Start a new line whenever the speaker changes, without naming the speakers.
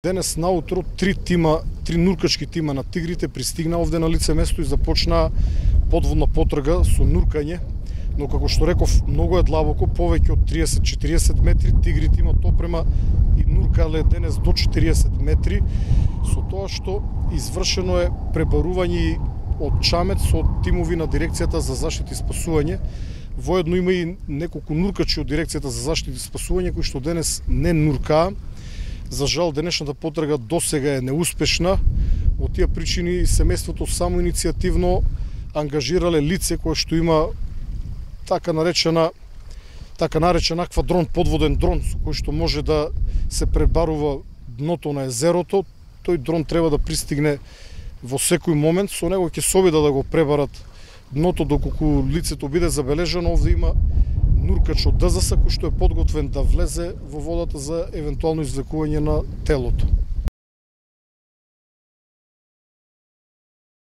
Денес наутро три нуркачки тима на тигрите пристигна овде на лице место и започна подводна потрага со нуркање, но како што реков, многу е длабоко, повеќе од 30-40 метри, тигрите имаат опрема и нуркале денес до 40 метри, со тоа што извршено е пребарување од Чамет со тимови на дирекцијата за заштита и спасување. Воедно има и неколку нуркачи од дирекцијата за заштита и спасување кои што денес не нуркаа. За жал, денешната потрага досега е неуспешна. Од тие причини семејството само иницијативно ангажирале лице кое што има така наречен аквадрон, подводен дрон со кој што може да се пребарува дното на езерото. Тој дрон треба да пристигне во секој момент, со него ќе се обидат да го пребарат дното доколку лицето биде забележано. Овде има нуркач од ДЗС кој што е подготвен да влезе во водата за евентуално извлекување на телото.